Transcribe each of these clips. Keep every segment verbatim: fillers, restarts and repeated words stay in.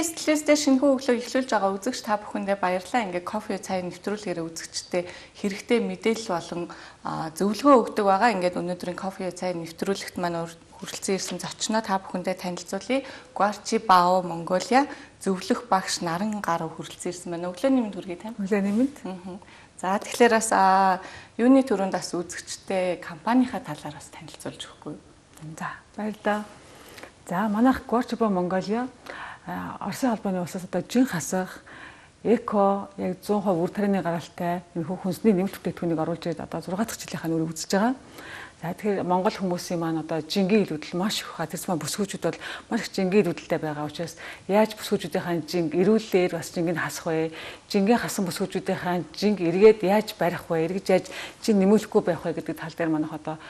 Стилисттэй шинэхүү өглөө эхлүүлж байгаа үзэгч та бүхэндээ баярлалаа. Ингээ кофе цай нэвтрүүлгээр үзэгчтэй хэрэгтэй мэдээлэл болон зөвлөгөө өгдөг байгаа. Ингээд өнөөдрийн кофе цай нэвтрүүлэгт маань хүрэлцэн ирсэн зочноо та бүхэндээ танилцуулъя. Guarchi Bao Mongolia зөвлөх багш Наран Гарав хүрэлцэн ирсэн байна. Өглөөний мэнд хүргэе тань. Өглөөний мэнд. За тэгэхээр бас юуны төрөнд бас үзэгчтэй компанийнхаа талаар бас танилцуулж өгөхгүй. За баярлалаа. За манайх Guarchi Bao Mongolia Оросын албаны улсаас одоо жин хасах эко яг зуун хувь үр тарианы гаралтай энэ хүнсний нэмэлт бүтээгдэхүүнийг оруулж ирээд одоо зургаан дахь жилийнхаа нүрийг үзэж байгаа. За тэгэхээр Монгол хүмүүсийн маань одоо жингийн илүүдэл маш их хаа тэрс маань бүсгүүчүүд бол маш их жингийн илүүдэлтэй байгаа учраас яаж бүсгүүчүүдийн жинг эрүүлээр бас жингийг хасах вэ? Жингийн хасан бүсгүүчүүдийн жинг эргээд яаж барих вэ? Эргэж яаж жин нэмүүлэхгүй байх вэ гэдэг тал дээр манайх одоо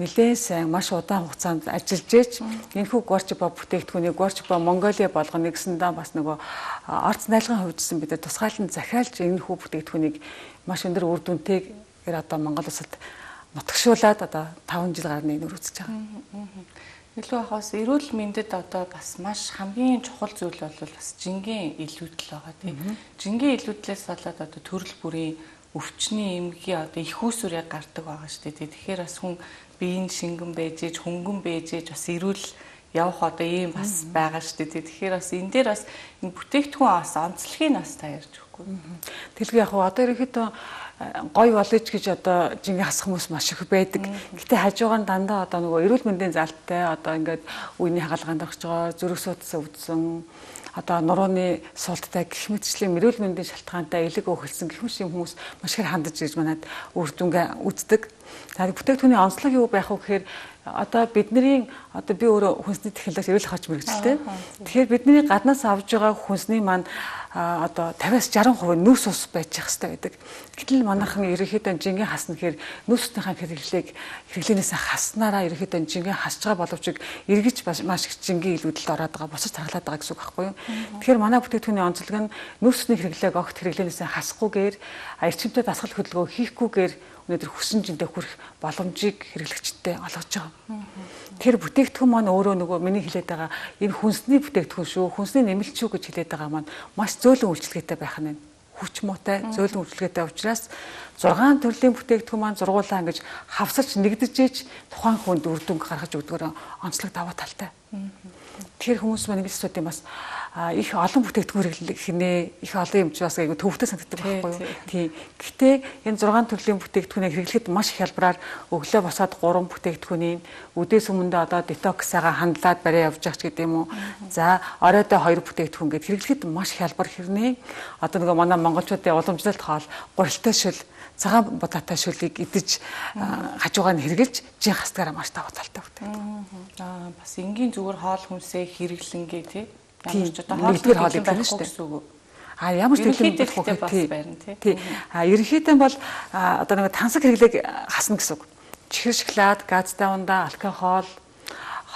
нэлээд сайн маш удаан хугацаанд ажиллаж ийж энэхүү Guarchi Bao бүтээгдэхүүнийг Guarchi Bao Mongolia болгоно гэсэндээ бас нөгөө орц найлагын хувьдсан бид тусгаалan захиалж энэхүү бүтээгдэхүүнийг маш өндөр үр дүнтэйгээр одоо Монгол улсад нутагшуулаад одоо таван жил гарны нөр үзэж байгаа. Илүү хаас эрүүл мэндэд одоо бас маш хамгийн чухал зүйл бол бас жингийн илүүдэл байгаа тийм. Жингийн илүүдлээс болоод одоо төрөл бүрийн өвчний эмгийн одоо их үүсвэр яг гардаг байгаа шүү дээ. Тэгэхээр бас хүн биеийн шингэн байж ээж хөнгөн байж ээж бас эрүүл явах одоо ийм бас байгаа шүү дээ. Тэгэхээр бас энэ дээр бас энэ бүтээгдэхүүн бас онцлогийг бас та ярьж өгөхгүй. Тэлгүй яг одоо ерөнхийдөө гой болооч гэж одоо жингийн хасах хүмүүс маш их байдаг. Гэтэ хажуугаар дандаа одоо нөгөө эрүүл мэндийн залтай одоо ингээд үений хагалгаанд орж байгаа зүрх судас өвдсөн одоо нурууны суулттай гэх мэтчлийн эрүүл мэндийн шалтгаантай элэг өөхөлсөн гэх мэт хүмүүс маш их хандаж ирж манад үр дүнгээ үздэг. За бүтээгдэхүүний онцлог юу байх вэ гэхээр одоо бидний одоо би өөрөө хүнсний технологи эрүүл хаач мэрэгчлээ. Тэгэхээр бидний гаднаас авж байгаа хүнсний маань одоо тавиас жаран хувь нүс ус байж явах хэрэгтэй байдаг. Гэтэл манайхан ерөнхийдөө жингийн хасна гэхээр нүс усныхаа хэрэглээг хэрэглэнээс хаснараа ерөнхийдөө жингийн хасж байгаа боловч эргэж маш их жингийн илүүдэлд ороод байгаа босож тархалаад байгаа гэсэн үг байхгүй юу. Тэгэхээр манай бүтээгдэхүүний онцлог нь нүс усны хэрэглээг огт хэрэглэнээс хасахгүйгээр эрчимтэй дасгал хөдөлгөөн хийхгүйгээр өнөөдөр хүссэн жинтэй хүрэх боломжийг хэрэглэгчтэй олгож байгаа. Тэр бүтээгдэхүүн маань өөрөө нөгөө миний хэлээд байгаа энэ хүнсний бүтээгдэхүүн шүү, хүнсний нэмэлт шүү гэж хэлээд байгаа маань маш зөөлөн үйлчлэгээтэй байх нь хүч муутай, зөөлөн үйлчлэгээтэй учраас зургаан төрлийн бүтээгдэхүүн маань зургуулаа ингэж хавсарч нэгдэж ээж тухайн хүнд үр дүнг гаргаж өгдөгөр онцлог даваа талтай. Тэгэхээр хүмүүс маань ингэж асуудаг бас их олон бүтээгдэхүүн хэрэглэх хинэ их олон юм чи бас айгу төвхтэй санагддаг байхгүй юу. Тийм. Гэхдээ энэ зургаан төрлийн бүтээгдэхүүнийг хэрэглэхэд маш их хялбараар өглөө босоод гурван бүтээгдэхүүнийг үдээс өмнө одоо детоксаага хандлаад барай явж байгаа ч гэдэг юм уу. За оройдоо хоёр бүтээгдэхүүн гэд хэрэглэхэд маш хялбар хэрнээ одоо нөгөө манай монголчуудын уламжлалт хоол гурилтай шил цагаан будаатай шүлгийг идэж хажуугаар нь хэрглэж жин хастгаараа маш даваа талтай бүтээгдэхүүн. Аа бас энгийн зүгээр хоол хүнсээ хэрэглэнгээ тий. Ямар ч одоо хоолны хоол идэх шүү дээ. А ямар ч төлөв бас байна тий. А ерөнхийдөө бол одоо нэг тансаг хэрэглээг хасна гэсэн үг. Чихэр шоколад, газтай ундаа, алкогол,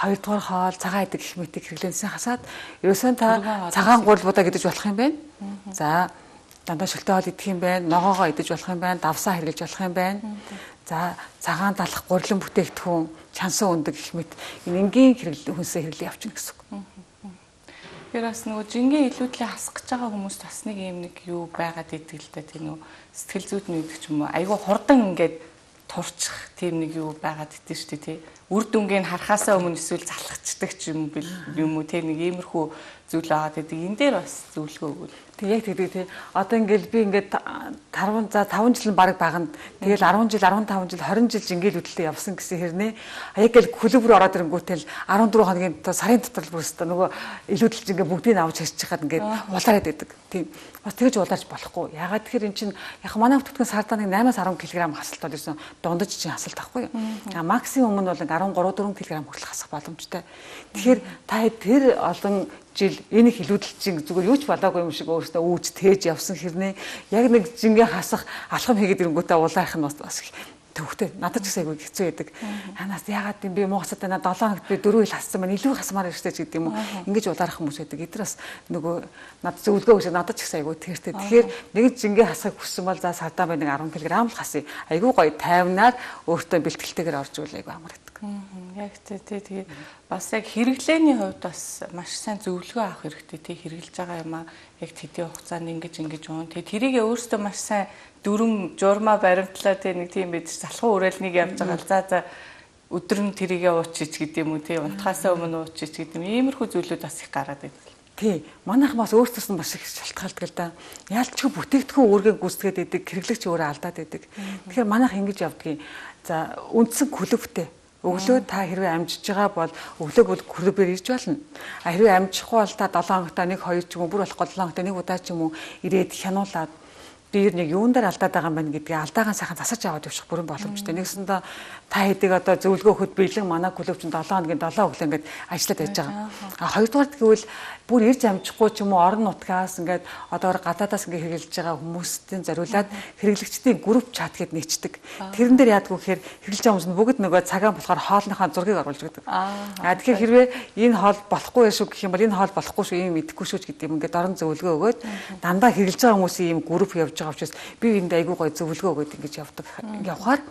хоёрдугаар хоол, цагаан идэг гэх мэтийг хэрэглэнээс хасаад ерөөсөө та цагаан гурилбуудаа гэдэж болох юм байна. За дандаа шөлтөө хоол идэх юм байна, ногоогоо идэж болох юм байна, давсаа хэрэглэж болох юм байна. За цагаан далах гурилан бүтээгдэхүүн, чансан өндөг гэх мэт энэ энгийн хэрэглэн хүнсээ хэрэглээ явчихна гэсэн үг. Тэр бас нөгөө жингийн илүүдлээ хасах гэж байгаа хүмүүс бас нэг юм нэг юу байгаад идэг л да тийм нөгөө сэтгэл зүйд нь өгдөг ч юм уу айгүй хурдан ингээд турчих тийм нэг юу байгаад идэв шүү дээ тий. Үр дүнгийн харахаасаа өмнө эсвэл залхацдаг ч юм юм уу тийм нэг иймэрхүү зүйл аваад идэг. Энэ дээр бас зөвлөгөө өгвөл. Тэг яг тэгдэг тий. Одоо ингээл би ингээд таван за таван жил нь баг баганд тэгэл арван жил, арван таван жил, хорин жил жингээл хөдлөлтөд явсан гэсэн хэрнээ яг л клуб руу ороод ирэнгүүтэл арван дөрвөн хоногийн сарын дотор бүр өстө нөгөө илүүдэлж ингээд бүгдийг авч харьж чахад ингээд улаарад байдаг. Тийм. Бас тэгж улаарч болохгүй. Ягаад тэгэхээр эн чинь яг манай бүтээгдэхүүн сардаа нэг наймаас арван килограмм хасалт бол ерсэн дундаж чинь хасалт авахгүй юу. А максимум нь бол арван гурав дөрвөн килограмм хүртэл хасах боломжтой. Тэгэхээр та тэр олон жил энэ их илүүдэлчин зүгээр юу ч болоогүй юм шиг өөрөөсөө үүж тээж явсан хэрнээ яг нэг жингээ хасах алхам хийгээд ирэнгүүтээ улаарах нь бас төвхтэй надад ч гэсэн айгүй хэцүү байдаг. Ханаас яагаад юм би Монгоцтой надад долоо хоногт би дөрөв ил хассан маань илүү хасмаар ирсэн ч гэдэг юм уу. Ингэж улаарах хүмүүс байдаг. Эдгээр бас нөгөө надад зөвлөгөө өгч надад ч гэсэн айгүй тэртэй. Тэгэхээр нэг жингээ хасахыг хүссэн бол за сардаа бай нэг арван килограмм л хасъя. Айгүй гоё тайвнаар өөртөө бэлтгэлтэйгээр орж ивэл айгүй амар гэдэг. Яг тий тэгээ бас яг хэрэглээний хувьд бас маш сайн зөвлөгөө авах хэрэгтэй. Тий хэрэглэж байгаа юм аа яг тэдний хугацаанд ингэж ингэж уун. Тэгээ тэрийг өөрөөсөө маш сайн дүрм журмаа баримтлаа тий нэг тийм байж залхуу уриалныг явж байгаа л за за өдөр нь тэрийгэ уучиж гэдэг юм уу тий унтахаасаа өмнө уучиж гэдэг юм. Иймэрхүү зүйлүүд бас их гараад байдаг. Тий, манайхан бас өөрсдөөс нь маш их шалтгаалдаг л да. Яалтчгүй бүтээгдэхүүн өөргөө гүйцэтгээд идэг, хэрэглэгч өөрөө алдаад идэг. Тэгэхээр манайх ингэж явдгийг. За, үндсэн клубтэй. Өглөө та хэрвээ амжиж байгаа бол өглөө бол клубээр ирж болно. А хэрвээ амжихгүй бол та долоон хоногт нэг хоёр ч юм уу бүр болохгүй долоон хоногт нэг удаа ч юм уу ирээд хянуулаад би нэг юун дээр алдаад байгаа юм байна гэдгийг алдаагаа сайхан засаж аваад явчих бүрэн боломжтой. Нэгсэндээ та хэдэг одоо зөвлөгөө өгөхөд бэлэн манай клуб чинь долоон хоногийн долоон өглөө ингээд ажиллаад байж байгаа. А хоёрдугаар гэвэл бүр ирж амжихгүй ч юм уу орон нутгаас ингээд одоор гадаадаас ингээд хэрэгжилж байгаа хүмүүстийн зориулаад хэрэглэгчдийн групп чат гэд нэчдэг. Тэрэн дээр яадгүй гэхээр хэрэгжилж байгаа хүмүүс нь бүгд нөгөө цагаан болохоор хоолныхаа зургийг оруулж өгдөг. А тэгэхээр хэрвээ энэ хоол болохгүй шүү гэх юм бол энэ хоол болохгүй шүү юм идэхгүй шүү гэдэг юм ингээд орон зөвлөгөө өгөөд дандаа хэрэгжилж байгаа хүмүүсийн ийм групп явж байгаа учраас би энд айгүй гой зөвлөгөө өгөөд ингэж явдаг. Явхаар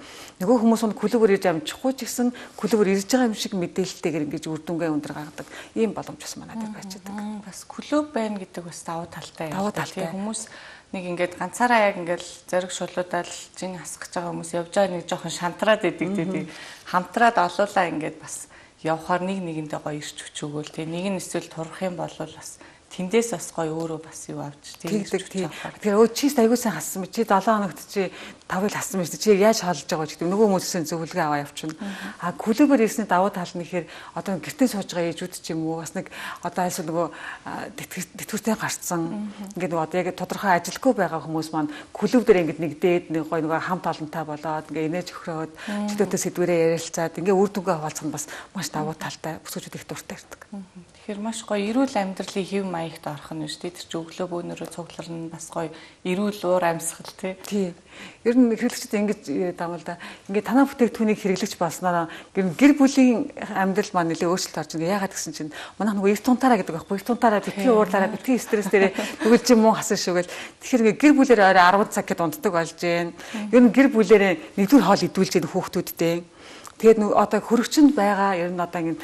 нөгөө хүмүүс нь клубээр ирж амжихгүй ч гэсэн клубээр ирж байгаа юм шиг мэдээлэлтэйгээр ингэж үр дүнгээ өндөр гаргадаг. Ийм боломж бас манайд байцдаг. Бас клуб байна гэдэг бас давуу талтай юм. Тэгээ хүмүүс нэг ингээд ганцаараа яг ингээд зориг шулуудаал жин хасгаж байгаа хүмүүс явж байгаа нэг жоохон шантраад идэг тий. Хамтраад олуулаа ингээд бас явхаар нэг нэгэндээ гоё ирч хүч өгөөл тий. Нэг нь эсвэл турах юм бол бас тэндээс бас гоё өөрөө бас юу авч тэгдэг тий. Тэгэхээр өө чи аягүй сайн хассан чи долоон хоногт чи тавыг хассан мэт чи яаж хаалж байгаа гэдэг нөгөө хүмүүсийн зөвлөгөө аваа явчихна. А клубээр ирсний давуу тал нь ихээр одоо гэртээ сууж байгаа ээжүүд ч юм уу бас нэг одоо айсуу нөгөө тэтгэвртэй гарцсан ингээд нөгөө одоо яг тодорхой ажилгүй байгаа хүмүүс маань клуб дээр ингээд нэгдээд нэг гоё нөгөө хамт олонтой болоод ингээд инээж өхрөөд чөлөөтэй сэдвэрээ ярилцаад ингээд үр дүнгээ хуваалцах нь бас маш давуу талтай бүсгүүчүүд их дуртай ирдэг. Тэгэхээр маш гоё эрүүл амьдралын хэв маягт орох нь шүү дээ. Тэр чи өглөө бөөнөрөө цугларна бас гоё эрүүл уур амьсгал тий. Ер нь хэрэглэгчд ингэж яриад байгаа л да. Ингээд танаа бүтээгдэхүүнийг хэрэглэгч болсноор гэр бүлийн амьдрал маань нэлээ өөрчлөлт орж байгаа. Яагаад гэсэн чинь манайх нөгөө эв тунтаараа гэдэг байхгүй. Эв тунтаараа битгий уурлаараа битгий стресс дээрээ нүгэлж юм уу хасан шүүгээл. Тэгэхээр ингээд гэр бүлээр орой арван цаг гэд унтдаг болж байна. Ер нь гэр бүлээрээ нэгдүгээр хоол идүүлж байгаа хүүхдүүдтэй. Тэгээд нөгөө одоо хөрөгчөнд байгаа ер нь одоо ингэ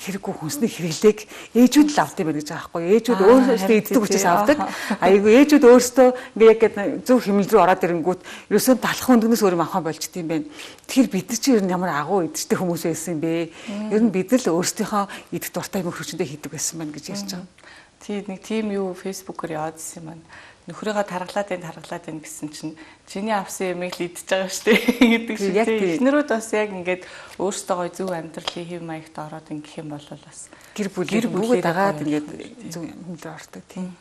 хэрэггүй хүнсний хэрэглээг ээжүүд л авдаг юм байна гэж байгаа байхгүй. Ээжүүд өөрсдөө иддэг учраас авдаг. Айгу ээжүүд өөрсдөө ингээ яг зөв хэмнэл рүү ороод ирэнгүүт ерөөсөө талах өндгнөөс өөр юм авах болчт юм байна. Тэгэхээр бид нар чи ер нь ямар агуу идэгтэй хүмүүс байсан юм бэ? Ер нь бид нар л өөрсдийнхөө идэх дуртай юм хөрөгчөндөө хийдэг байсан байна гэж ярьж байгаа. Тий нэг тийм юу фэйсбүүкээр яваадсэн юм байна. Нөхрөөгөө таргалаад энэ таргалаад энэ гэсэн чинь чиний авсан юмыг л идчихэж байгаа шүү дээ гэдэг шиг тийм. Эхнэрүүд бас яг ингээд өөрсдөө гоё зөв амьдралын хэв маягт ороод ингэх юм бол бас гэр бүлээр бүгд дагаад ингээд зөв хэмлээ ордог тийм.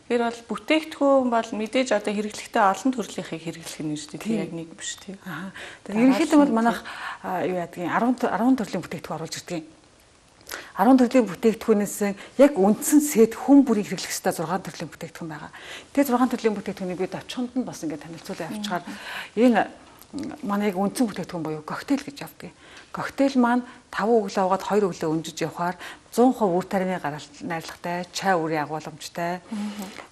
Тэр бол бүтээгдэхүүн бол мэдээж одоо хэрэглэхдээ олон төрөлийнхийг хэрэглэх нь шүү дээ. Тийм яг нэг биш тийм. Аа. Тэгэхээр ерөнхийдөө бол манайх юу яадгийг арван арван төрлийн бүтээгдэхүүн оруулж ирдэг. арван төрлийн бүтээгдэхүүнээс яг үндсэн сет хүн бүрийг хэрэглэх ёстой зургаан төрлийн бүтээгдэхүүн байгаа. Тэгээд зургаан төрлийн бүтээгдэхүүнийг бид очихонд нь бас ингээд танилцуулан авчгаар энэ манай яг үндсэн бүтээгдэхүүн буюу коктейл гэж явдаг. Коктейл маань таван өглөө угаад хоёр өглөө өнжиж явхаар зуун хувь үр тарианы гаралт найрлагатай, чай үрийн агуулмжтай.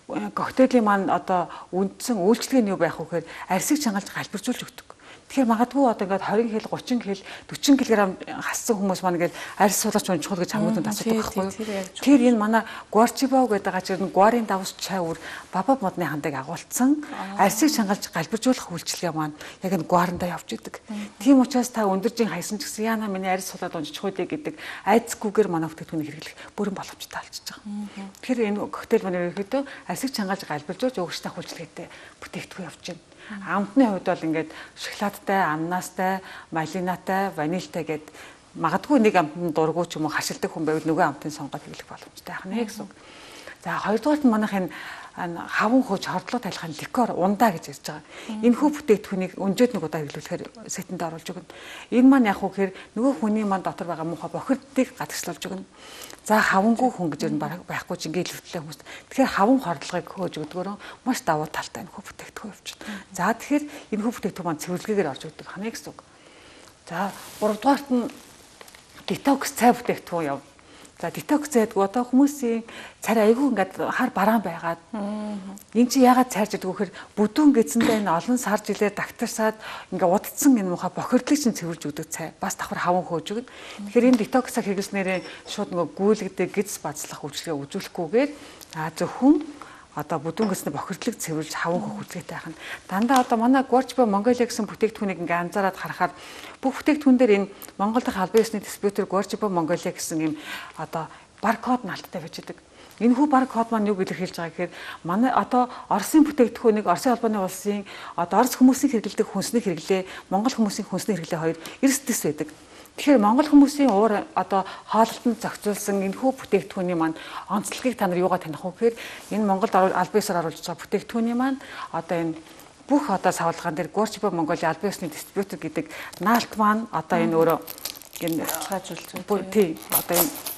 Коктейлийн маань одоо үндсэн үйлчлэг нь юу байх вэ гэхээр арсыг чангалж галбиржуулж өгдөг. Тэгэхээр магадгүй одоо ингээд двадцать хил, тридцать хил, forty кг хассан хүмүүс маань ингээд арьс суулгач унжихул гэж хамуудад асуудаг байхгүй юу? Тэр энэ манай Guarchibao гэдэг байгаа чинь гуарын давс чай үр баба модны хандыг агуулсан арьсыг чангалж галбиржуулах үйлчлэгээ маань яг энэ гуарандаа явж идэг. Тийм учраас та өндөржин хайсан ч гэсэн яана миний арьс суулгаад унжих үү гэдэг айцгүйгээр манай бүтээгдэхүүнийг хэрэглэх бүрэн боломжтой болчихж байгаа. Тэгэхээр энэ коктейл маань ерөөхдөө арьсыг чангалж галбиржуулж өгөгчтэй үйлчлэгээтэй бүтээгдэхүүн явж байна. Амтны хувьд бол ингээд шоколадтай, ананастай, малинатай, ванильтай гэд магадгүй нэг амтны дургуй ч юм уу хашилдаг хүн байвал нөгөө амтын сонгоод хэрэглэх боломжтой байх нэ гэсэн үг. За хоёрдугаарт манайх энэ хаван хөөж хордлого тайлахын ликер ундаа гэж ярьж байгаа. Энэ хүү бүтээгдэхүүнийг өнжөөд нэг удаа хэрэглүүлэхээр сетэнд оруулж өгнө. Энэ маань яг үхээр нөгөө хүний маань дотор байгаа муухай бохирдыг гадагшлуулж өгнө. За хавангүй хүн гэж ер нь байхгүй ч ингээд илэрхийлээ хүмүүс. Тэгэхээр хаван хордлогыг хөөж өгдөгөөрөө маш давуу талтай энэ хүү бүтээгдэхүүн явчихна. За тэгэхээр энэ хүү бүтээгдэхүүн маань цэвэрлэгээр орж өгдөг хана гэсэн үг. За гуравдугаарт нь детокс цай бүтээгдэхүүн яв. За детокс гэдэг одоо хүмүүсийн царай айгүй ингээд хар бараан байгаад энэ чи яагаад цайрж идэх вэ гэхээр бүдүүн гэцэндээ энэ олон сар жилээр дагтарсаад ингээд удцсан энэ муха бохирдлыг чинь цэвэрж өгдөг цай бас давхар хаван хөөж өгнө. Тэгэхээр энэ детоксыг хэрэглэснээрээ шууд нөгөө гүйлгдэг гиз бацлах үйлчлэгээ үзүүлэхгүйгээр а зөвхөн одоо бүдүүн гэснээр бохирдлыг цэвэрлж хаван хөөх үйлчлэгтэй байх нь. Дандаа одоо манай Guardiba Mongolia гэсэн бүтээгдэхүүнийг ингээ анзаараад харахаар бүх бүтээгдэхүүн дээр энэ Монгол дахь албан ёсны дистрибьютор Guardiba Mongolia гэсэн юм одоо баркод наалттай байж байгаа. Энэ хүү баркод маань юу илэрхийлж байгаа гэхээр манай одоо Оросын бүтээгдэхүүнийг Оросын албаны улсын одоо Орос хүмүүсийн хэрэглэдэг хүнсний хэрэглээ, Монгол хүмүүсийн хүнсний хэрэглээ хоёр эрс дэс байдаг. Тэгэхээр Монгол хүмүүсийн уур одоо хоолтонд зохицуулсан энэхүү бүтээгдэхүүний маань онцлогийг та нар юугаар таних вэ гэхээр энэ Монголд албан ёсоор оруулж байгаа бүтээгдэхүүний маань одоо энэ бүх одоо савлгаан дээр Guardiba Mongolia албан ёсны дистрибьютор гэдэг наалт маань одоо энэ өөрөө энэ хажуулж байгаа тийм одоо энэ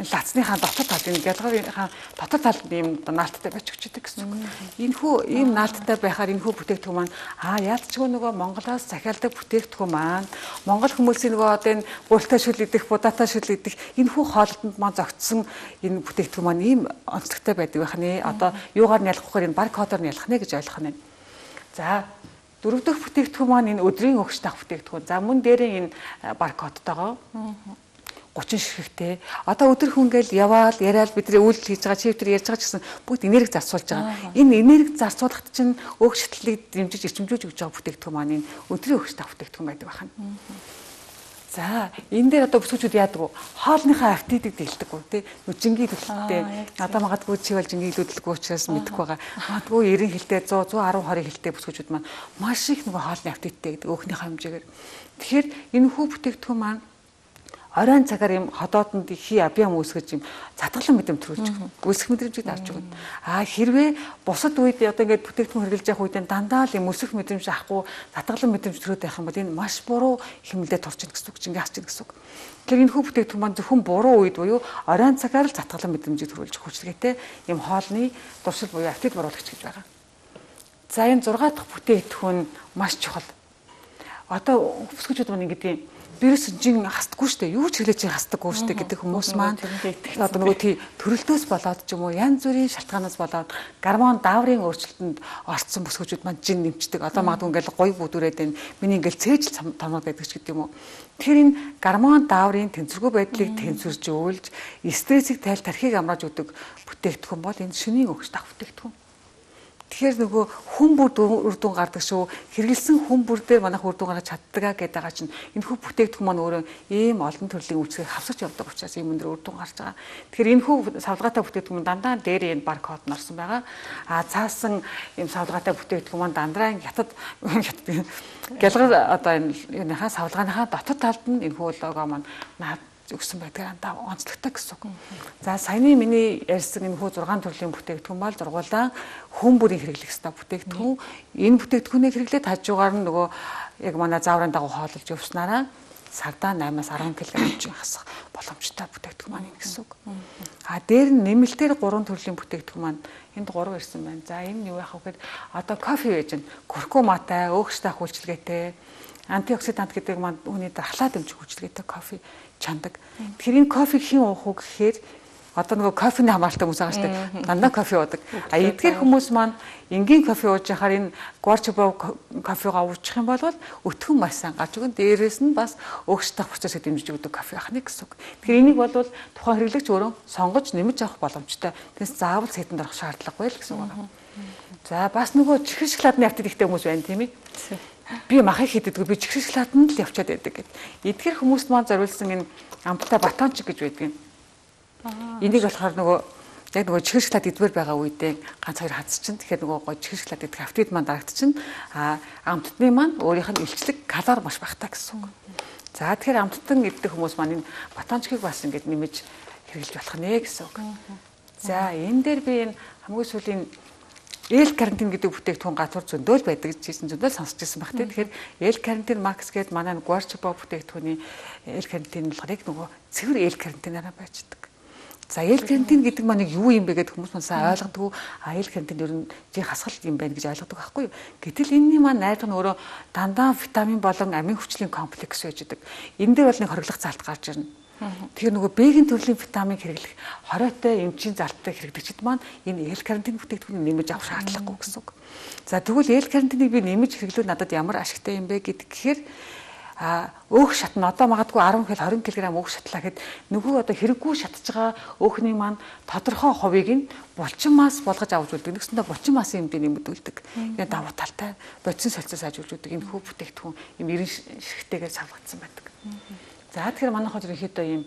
лацныхаа дотор талд энэ гялгарынхаа дотор талд ийм наалттай байж өгчдөг гэсэн үг. Энэхүү ийм наалттай байхаар энэхүү бүтээгдэхүүн маань аа яалтчгүй нөгөө Монголоос захиалдаг бүтээгдэхүүн маань Монгол хүмүүсийн нөгөө одоо энэ гурилтай шүл идэх, будаатай шүл идэх энэхүү хоолтонд маань зогтсон энэ бүтээгдэхүүн маань ийм онцлогтой байдаг байх нэ. Одоо юугаар нь ялах вэ гэхээр энэ баркодоор нь ялах нэ гэж ойлгох нь. За дөрөв дэх бүтээгдэхүүн маань энэ өдрийн өгч тах бүтээгдэхүүн. За мөн дээрээ энэ баркодтойгоо гучин ширхэгтэй. Одоо өдөр хүнгээл яваал, яриад бидний үйлдэл хийж байгаа, чи өдөр ярьж байгаа ч гэсэн бүгд энерги зарцуулж байгаа. Энэ энерги зарцуулахад чинь өөгчлөлийг дэмжиж эрчимжүүлж өгч байгаа бүтээгдэхүүн маань энэ өдрийн өгч тах бүтээгдэхүүн байдаг байна. За энэ дээр одоо бүсгүүчүүд яадаг вэ? Хоолныхаа аппетитыг дэлдэг үү тий? Жингийн төлөлттэй. Одоо магадгүй чи бол жингийн төлөлтгүй учраас мэдэхгүй байгаа. Магадгүй эрен хилтэй сто, сто десять, тwenty хилтэй бүсгүүчүүд маань маш их нөгөө хоолны аппетиттэй гэдэг өөхнийхөө хэмжээгээр. Тэгэхээр энэ хүү бүтээгдэхүүн маань оройн цагаар юм ходоодонд хий абьям үүсгэж юм затгалан мэдрэмж төрүүлж үүсэх мэдрэмжийг авч өгнө. Аа хэрвээ бусад үед одоо ингээд бүтээгдэхүүн хэрэглэж явах үед дандаа л юм өсөх мэдрэмж авахгүй затгалан мэдрэмж төрөөд байх юм бол энэ маш буруу хэмнэлтэд орж ийн гэсэн үг чинь хасч ийн гэсэн үг. Тэгэхээр энэ хүү бүтээгдэхүүн маань зөвхөн буруу үед буюу оройн цагаар л затгалан мэдрэмжийг төрүүлж хүчлэгээтэй юм хоолны дуршил буюу аппетит бууруулагч гэж байгаа. За энэ сix дахь бүтээгдэхүүн маш чухал. Одоо бүсгүүчүүд маань ингэдэг вирус жин хасдаггүй шүү дээ. Юу ч хэлээч хасдаггүй шүү дээ гэдэг хүмүүс маань одоо нөгөө тий төрөлтөөс болоод ч юм уу янз бүрийн шалтгаанаас болоод гормон дааврын өөрчлөлтөнд орцсон бүсгүүчүүд маань жин нэмчдэг. Одоо магадгүй ингээл гоё бүдүүрээд байна. Миний ингээл цээжл томноод байдаг ч гэдэг юм уу. Тэгэхээр энэ гормон дааврын тэнцвэргүй байдлыг тэнцвэрж өөлж стрессийг тайл тархийг амрааж өгдөг бүтээгдэхүүн бол энэ шөнийн өгч тах бүтээгдэхүүн. Тэгэхээр нөгөө хүн бүр үр дүн гардаг шүү. Хэрэгэлсэн хүн бүр дээр манайх үр дүн гаргаж чаддаг гэдэг байгаа чинь энэ хүү бүтээгдэхүүн маань өөрөө ийм олон төрлийн үйлчлэгийг хавсаж явдаг учраас ийм өндөр үр дүн гарч байгаа. Тэгэхээр энэ хүү савлгаатай бүтээгдэхүүн дандаа дээр энэ баркод нарсан байгаа. А цаасан ийм савлгаатай бүтээгдэхүүн маань дандаа хятад гялгар одоо энэ юуныхаа савлгааныхаа дотор талд нь энэ хүү лого маань өгсөн байдаг андаа онцлогтой гэсэн үг. За саяны миний ярьсан энэ хүү six төрлийн бүтээгдэхүүн бол зургуулаа хүн бүрийн хэрэглэх ёстой бүтээгдэхүүн. Энэ бүтээгдэхүүнийг хэрэглээд хажуугаар нь нөгөө яг манай зааврын дагуу хооллож явснараа сардаа eight-аас ten килограмм хасах боломжтой бүтээгдэхүүн маань гэсэн үг. А дээр нь нэмэлтээр three төрлийн бүтээгдэхүүн маань энд гурав ирсэн байна. За энэ юу яах вэ гэхээр одоо кофе байж гэн куркуматай, өөгч тах үйлчилгээтэй, антиоксидант гэдэг маань хүний дархлаа дэмжих үйлчилгээтэй кофе чандаг. Тэгэхээр энэ кофег хэн уух вэ гэхээр одоо нөгөө кофений хамааралтай хүмүүс байгаа шүү дээ. Дандаа кофе уудаг. А эдгээр хүмүүс маань энгийн кофе ууж яхаар энэ Guardiba кофегаа уучих юм бол өтгөн маш сайн гарч өгөн. Дээрээс нь бас өөгч тах процессыг дэмжиж өгдөг кофе байх нь гэсэн үг. Тэгэхээр энийг бол тухайн хэрэглэгч өөрөө сонгож нэмж авах боломжтой. Тэгээс заавал сэтэнд орох шаардлагагүй л гэсэн үг байна. За бас нөгөө чихэр шоколадны аппетиттэй хүмүүс байна тийм ээ. Би махыг хийдэггүй би чихэр шоколаданд л явчаад байдаг гэдэг. Эдгээр хүмүүст маань зориулсан энэ амттай батончик гэж байдаг юм. Энийг болохоор нөгөө яг нөгөө чихэр шоколад идвэр байгаа үедээ ганц хоёр хадс чинь тэгэхээр нөгөө гоо чихэр шоколад идэх аппетит маань дарагдчихна. А амттны маань өөрийнх нь илчлэг калори маш багтаа гэсэн үг. За тэгэхээр амттан идэх хүмүүс маань энэ батончикийг бас ингэж нэмэж хэрэглэж болох нэ гэсэн үг. За энэ дээр би энэ хамгийн сүүлийн L-карнитин гэдэг бүтээгдэхүүн гатур зөндөөл байдаг гэсэн зөндөөл сонсч ирсэн баг тийм. Тэгэхээр L-карнитин Max гэдэг манай Guardiba бүтээгдэхүүний L-карнитин болохоор яг нөгөө цэвэр L-карнитинаараа байждаг. За L-карнитин гэдэг маань юу юм бэ гэдэг хүмүүс маань сайн ойлгодгүй. А L-карнитин ер нь жин хасгал юм байна гэж ойлгодог байхгүй юу? Гэтэл энэний маань найраг нь өөрөө дандаа витамин болон амин хүчлийн комплекс байж байгаа. Энэ дээр бол нэг хориглох залт гарч ирнэ. Тэгэхээр нөгөө B-ийн төрлийн витамин хэрэглэх хориотой эмчийн залттай хэрэглэгчид маань энэ L карнитин бүтээгдэхүүнийг нэмэж авах шаардлагагүй гэсэн үг. За тэгвэл L карнитиныг би нэмэж хэрэглүүл надад ямар ашигтай юм бэ гэдэг гэхээр а өөх шат нь одоо магадгүй десять кг тwenty кг өөх шатлаа гэхэд нөгөө одоо хэрэггүй шатж байгаа өөхний маань тодорхой хувийг нь булчин мас болгож авч үлддэг. Нэгсэндээ булчин масын хэмжээ нэмэгдүүлдэг. Энэ давуу талтай бодис солилцоос ажиглуулдаг энэ хүү бүтээгдэхүүн юм эрен ширхтэйгээр савлагдсан байдаг. За тэгэхээр манайх хот ерөнхийдөө ийм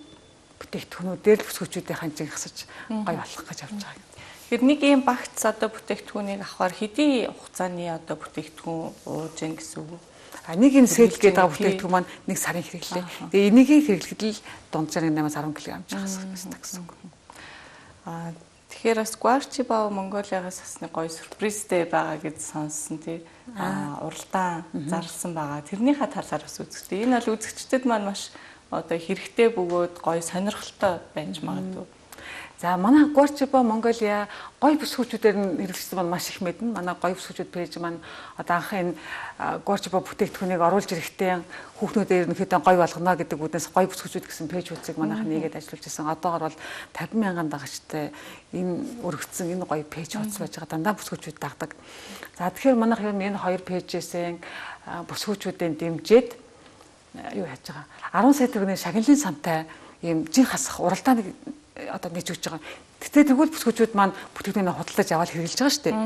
бүтээгдэхүүнүүд дээр л бүсгүүчүүдийн ханжиг хасаж гой болох гэж явж байгаа юм. Тэгэхээр нэг ийм багц одоо бүтээгдэхүүнийг авахар хэдийн хугацааны одоо бүтээгдэхүүн ууж гин гэсэн үг. А нэг энэ сэл гэдэг бүтээгдэхүүн маань нэг сарын хэрэглээ. Тэгээ энийг хэрэглэхэд л дунджаар eight-аас ten кг хасах гэсэн гэсэн үг. А тэгэхээр бас Guarchibao Mongolia-гаас асны гоё сюрпризтэй байгаа гэж сонссон тий. А уралдаан зарласан байгаа. Тэрнийхээ талаар бас үзэгчтэй. Энэ бол үзэгчдэд маань маш одоо хэрэгтэй бөгөөд гоё сонирхолтой байж магадгүй. За манай Guarchibao Mongolia гоё бүсгүүчүүдээр нь хэрэглэсэн маань маш их мэднэ. Манай гоё бүсгүүчүүд пэйж маань одоо анх энэ Guarchibao бүтээгдэхүүнийг оруулж ирэхдээ хүүхнүүдээр ерөнхийдөө гоё болгоно гэдэг үднээс гоё бүсгүүчүүд гэсэн пэйж үзэг манайх нэгээд ажиллаж байсан. Одоогор бол fifty мянган дагагчтай энэ өргөцсөн энэ гоё пэйж хуудас байж байгаа. Дандаа бүсгүүчүүд дагдаг. За тэгэхээр манайх ер нь энэ хоёр пэйжээсээ бүсгүүчүүдийн дэмжиж юу яаж байгаа. ten сая төгрөгийн шагналын сантай ийм жин хасах уралдааныг одоо нээж өгч байгаа. Тэгтээ тэгвэл бүсгүүчүүд маань бүтээгдэхүүнээ худалдаж аваад хэрэглэж байгаа шүү дээ.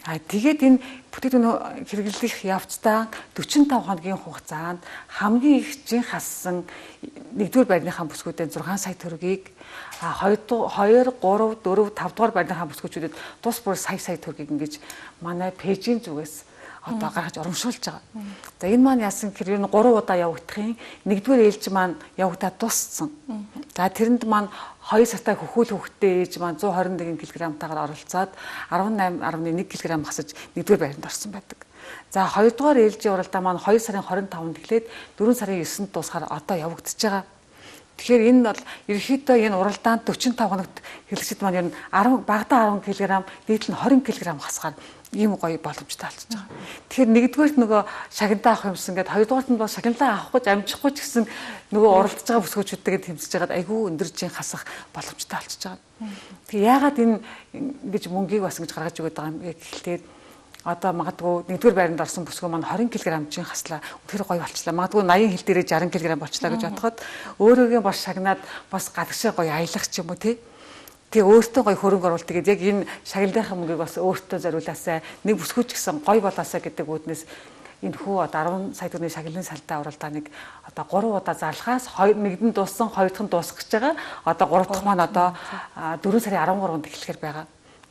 Аа тэгээд энэ бүтээгдэхүүн хэрэглэх явцдаа forty-five хоногийн хугацаанд хамгийн их жин хассан нэгдүгээр байрныхаа бүсгүүдээ six сая төгрөгийг а two, three, four, five дугаар байрныхаа бүсгүүчүүдэд тус бүр сая сая төгрөгийг ингэж манай пэйжийн зүгээс одоо гаргаж урамшуулж байгаа. За энэ маань яасан гэхээр энэ three удаа явагдахын нэгдүгээр ээлж маань явагдаад дууссан. За тэрэнд маань two сартай хөхүүл хөхтэй ээж маань one hundred twenty-one кг-таагаар оролцоод eighteen point one кг хасаж нэгдүгээр байранд орсон байдаг. За хоёрдугаар ээлжийн уралдаан маань two сарын twenty-five тэглээд four сарын nine-нд дуусахаар одоо явагдаж байгаа. Тэгэхээр энэ бол ерөнхийдөө энэ уралдаанд forty-five хоногт хэрэглэгчид маань ер нь ten багадаа ten кг, дээдл нь twenty кг хасгаар ийм гоё боломжтой болчихж байгаа. Тэгэхээр нэгдүгээрт нөгөө шагналаа авах юмсан гэдэг хоёрдугаарт нь бол шагналаа авах гэж амжихгүй ч гэсэн нөгөө уралдаж байгаа бүсгүүчүүдтэйгээ тэмцэж байгаад айгүй өндөр жин хасах боломжтой болчихж байгаа. Тэгээ яагаад энэ ингэж мөнгийг бас ингэж гаргаж өгöd байгаа юм гэхэлтэй одоо магадгүй нэгдүгээр байранд орсон бүсгүй маань twenty кг жин хаслаа. Тэр гоё болчлаа. Магадгүй eighty хил дээрээ sixty кг болчлаа гэж бодоход өөрөөгөө бас шагнаад бас гадагшаа гоё аялах ч юм уу тий. Тэгээ өөртөө гоё хөрөнгө оруулалт тэгээд яг энэ шагналынхаа мөнгийг бас өөртөө зориулаасаа нэг бүсгүүч гэсэн гоё болоосаа гэдэг үүднээс энэ хүү одоо ten сая төгрөгийн шагналын салтай уралдааныг одоо three удаа зарлахаас нэгдэн дууссан, хоёр дахь нь дуусах гэж байгаа. Одоо гурав дахь маань одоо four сарын thirteen-нд эхлэхээр байгаа.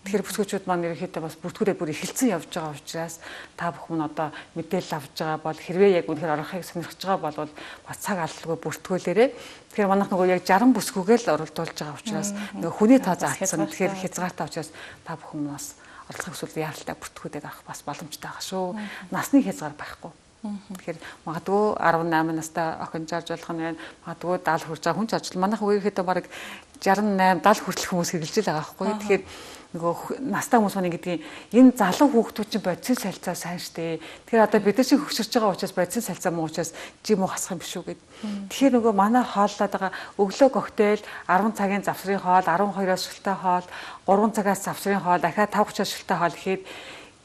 Тэгэхээр бүсгүүчүүд маань ерөнхийдөө бас бүртгүүрээ бүр эхэлсэн явж байгаа учраас та бүхэн одоо мэдээлэл авч байгаа бол хэрвээ яг үнэхээр орохыг сонирхож байгаа бол бас цаг алдалгүй бүртгүүлээрээ. Тэгэхээр манайх нөгөө яг sixty бүсгүүгээ л оролдуулж байгаа учраас нөгөө хүний тоо заалтсан. Тэгэхээр хязгаартай учраас та бүхэн бас оролцох эсвэл яаралтай бүртгүүлээд авах бас боломжтой байгаа шүү. Насны хязгаар байхгүй. Тэгэхээр магадгүй eighteen настай охин жарж болох нь байна. Магадгүй seventy хүрж байгаа хүн жарж. Манайх үеийнхээ бараг sixty-eight seventy хүртэлх хүмүүс хэрэгжилж байгаа байхгүй. Тэгэхээр нөгөө настай хүмүүс маань ингэдэг энэ залуу хүүхдүүд чинь бодисын салцаа сайн штэ. Тэгэхээр одоо бид нар шиг хөксөрч байгаа учраас бодисын салцаа муу учраас жим уу хасах юм биш үү гэд. Тэгэхээр нөгөө манай хооллоод байгаа өглөө коктейл ten цагийн завсрын хоол, twelve-оос шилтэй хоол, three цагаас завсрын хоол, дахиад five thirty-оос шилтэй хоол гэхэд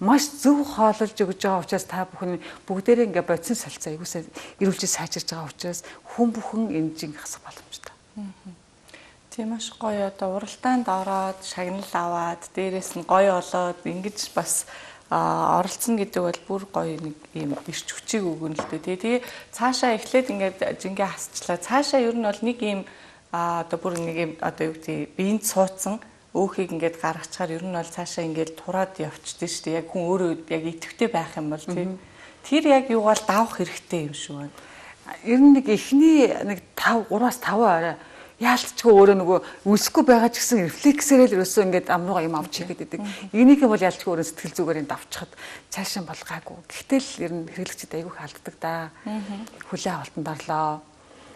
маш зөв хооллож өгж байгаа учраас та бүхэн бүгдээрээ ингээ бодисын салцаа аюусаа эрүүлж сайжирж байгаа учраас хүн бүхэн энэ жин хасах боломжтой. Тийм маш гоё одоо уралдаанд ороод шагнал аваад дээрээс нь гоё олоод ингэж бас оролцсон гэдэг бол бүр гоё нэг юм ирч хүчийг өгөн л дээ. Тэгээ цаашаа эхлээд ингээд жингээ хасчлаа. Цаашаа ер нь бол нэг юм одоо бүр нэг юм одоо юу гэдэг биенд суудсан өөхийг ингээд гаргачаар ер нь бол цаашаа ингээд тураад явчихдээ шүү дээ. Яг хүн өөрөө яг идэвхтэй байх юм бол тийм. Тэр яг юугаар давах хэрэгтэй юм шүү байна. Ер нь нэг эхний нэг five three-аас five орой яалтчгүй өөрөө нөгөө үлсэхгүй байгаа ч гэсэн рефлексээрээ л ерөөсөө ингээд амрууга юм авч хийгээд идэг. Энийг бол яалтчгүй өөрөө сэтгэл зүгээрээ давчихад цаашаа бол гайгүй. Гэхдээ л ер нь хэрэглэгчид айгүй халддаг да. Хүлээ авалтанд орлоо.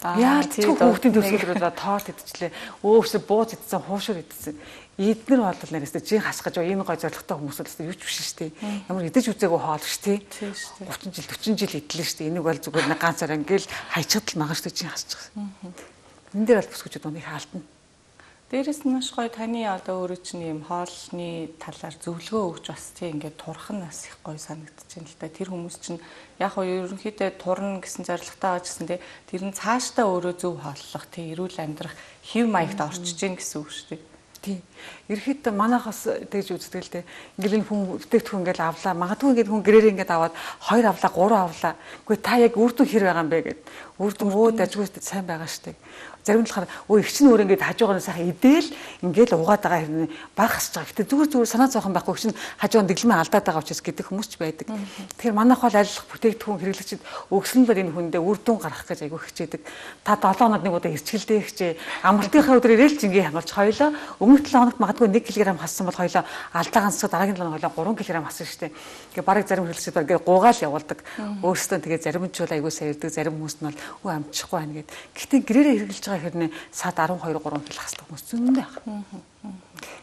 Яалтчгүй хүүхдийн төсвөлрөө тоорт идчихлээ. Өөсөө бууз идсэн, хуушур идсэн. Эднэр бол нэрээсээ жин хасах гэж энэ гой зоригтой хүмүүс л юу ч биш шүү дээ. Ямар идэж үзээгүй хоол шүү дээ. thirty жил, forty жил идлээ шүү дээ. Энийг бол зүгээр нэг ганцаар ингээл хайчаад л магаа шүү дээ жин хасчих. Энэ дээр бол бүсгүүчүүд унийг алдна. Дээрээс нь маш гоё таны одоо өөрөө чинь юм хоолны талаар зөвлөгөө өгч бас тийм ингээд турах нь бас их гоё санагдаж байна л да. Тэр хүмүүс чинь яг хоо ерөнхийдөө турна гэсэн зорилготой байгаа гэсэн тэр нь цаашдаа өөрөө зөв хооллох тийм эрүүл амьдрах хэв маягт орчиж гин гэсэн үг шүү дээ. Тийм. Ерөөхдөө манайхаас тэгж үздэг л дээ. Ингээл энэ хүн бүтээгдэхүүн ингээл авлаа. Магадгүй ингээд хүн гэрээр ингээд аваад хоёр авлаа, гурван авлаа. Үгүй та яг үр дүн хэр байгаа юм бэ гэд. Үр дүн өө дажгүйстэй сайн байгаа штеп. Зарим нь болохоор өө их чинь өөр ингээд хажуугаар нь сайхан идээл ингээд угаад байгаа хэрнээ баг хасж байгаа. Гэтэ зүгээр зүгээр санаа зовхон байхгүй чинь хажуугаар дэглэмээ алдаад байгаа учраас гэдэг хүмүүс ч байдаг. Тэгэхээр манайх бол аль бүтээгдэхүүн хэрэглэгчид өгснөөр энэ хүндээ үр дүн гаргах гэж айгүй хичээдэг. Та долоо хоног нэг удаа хэрчгэлдээ хичээ. Амралтынхаа өдөр ирээл жингээ хамарч хоёлоо өмнөх долоо хоногт магадгүй нэг килограмм хассан бол хоёлоо алдаа ганцсаа дараагийн долоо хоёлоо гурван килограмм хассан штеп. Ингээ бараг зарим хэрэглэгчид ингээ гуугаал явуулдаг. Өөрөөсөө тэгээ зарим нь ч бол айгүй саярдаг, зарим хүмүүс нь бол өө амжихгүй байна гэд. Гэхдээ гэрээрээ хэрэглэж байгаа хэрнээ сад арван хоёр гурван кг хасдаг хүмүүс зөндөө байна.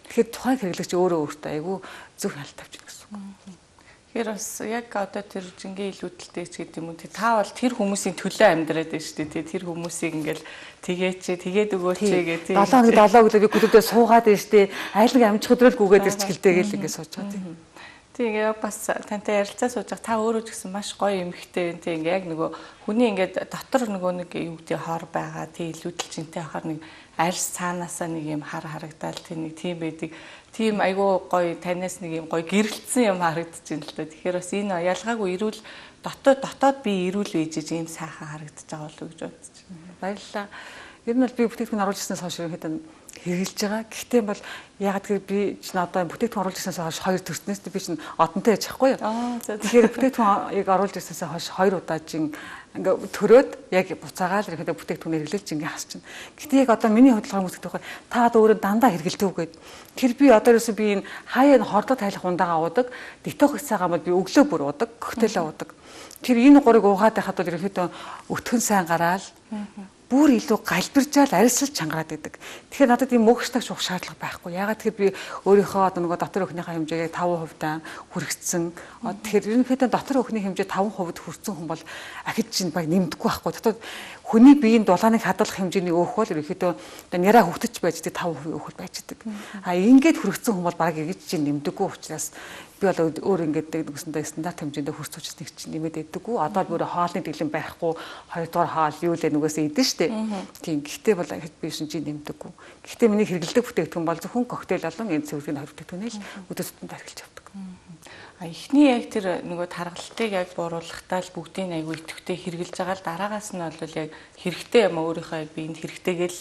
Тэгэхээр тухайн хэрэглэгч өөрөө өөртөө айгүй зөв хяналт тавьж байна гэсэн үг. Тэгэхээр бас яг одоо тэр жингээ илүүдэлтэй ч гэдэг юм уу та бол тэр хүмүүсийн төлөө амьдраад байна шүү дээ. Тэр хүмүүсийг ингээл тэгээч тэгээд өгөөч гэдэг. долоо хоног долоо өглөө би гүлүүдээ суугаад байна шүү дээ. Айл нэг амжих өдрөл гүгээд ирч гэлтэй гэл ингээд сууж байгаа тийм. Тэгээ бас тантай ярилцаа сууж байгаа та өөрөө ч гэсэн маш гоё эмэгтэй тийм ингээ яг нөгөө хүний ингээд дотор нөгөө нэг юу гэдэг хор байгаа тийм илүүдэлжинтэй хахаар нэг арьс цаанаасаа нэг юм хар харагдаал тийм нэг тийм байдаг. Тийм айгүй гоё танаас нэг юм гоё гэрэлтсэн юм харагдаж байна л да. Тэгэхээр бас энэ ялгаагүй эрүүл дотоод дотоод би эрүүл ээжэж ийм сайхан харагдаж байгаа болов уу гэж бодож байна. Баярлалаа. Ер нь бол би бүтээгдэхүүн оруулж ирснээс хойш ерөнхийдөө хэрэгжилж байгаа. Гэхдээ бол ягаад гэвэл би чинь одоо бүтээгдэхүүн оруулж ирснээс хойш хоёр төрснөөс би чинь одонтой яж чадахгүй юу. Тэгэхээр бүтээгдэхүүнийг оруулж ирснээс хойш хоёр удаа чинь ингээ төрөөд яг буцаагаал ерөнхийдөө бүтээгдэхүүн хэрэглэж ингээ хасч чинь. Гэхдээ яг одоо миний хөдөлгөөний хүмүүс гэдэг нь та одоо өөрөө дандаа хэрэгэлдэг үгээд. Тэр би одоо ерөөсөө би энэ хаяа хордоо тайлах ундаага уудаг, детокс цагаан бол би өглөө бүр уудаг, коктейл уудаг. Тэр энэ гурыг уугаад байхад бол ерөнхийдөө өтгөн сайн гараал бүр илүү галбиржаал арьсалж чангараад идэг. Тэгэхээр надад ийм мөхчтагч уух шаардлага байхгүй. Ягаад тэгэхээр би өөрийнхөө одоо нөгөө дотор өхнийхээ хэмжээгээ таван хувьтай хүрэгцсэн. Тэгэхээр ерөнхийдөө дотор өхний хэмжээ таван хувьд хүрсэн хүн бол ахиж чинь баг нэмдэггүй байхгүй. Дотор хүний биеийн дулааныг хадгалах хэмжээний өөх бол ерөнхийдөө одоо няраа хөвтөж байж байгаа таван хувийн өөх бол байж байгаа. А ингээд хүрэгцсэн хүн бол баг ингэж чинь нэмдэггүй учраас би бол өөр ингээд нэгсэндээ стандарт хэмжээндээ хүрч учраас нэг чинь нэмээд идэггүй. Одоо бүр хоолны дэглэм байхгүй хоёрдугаар хоол юу л нүгээс идэн штэ. Тийм. Гэхдээ бол би шин чинь нэмдэггүй. Гэхдээ миний хэрэгэлдэг бүтээгдэхүүн бол зөвхөн коктейл болон энэ цэвэргийн хоёр бүтээгдэхүүнээ л өдөр тутамд хэрэглэж явдаг. А эхний яг тэр нөгөө таргалтыг яг бууруулахдаа л бүгдийг айгүй идэвхтэй хэрэглэж байгаа л дараагаас нь бол яг хэрэгтэй юм өөрийнхөө яг биед хэрэгтэйгээл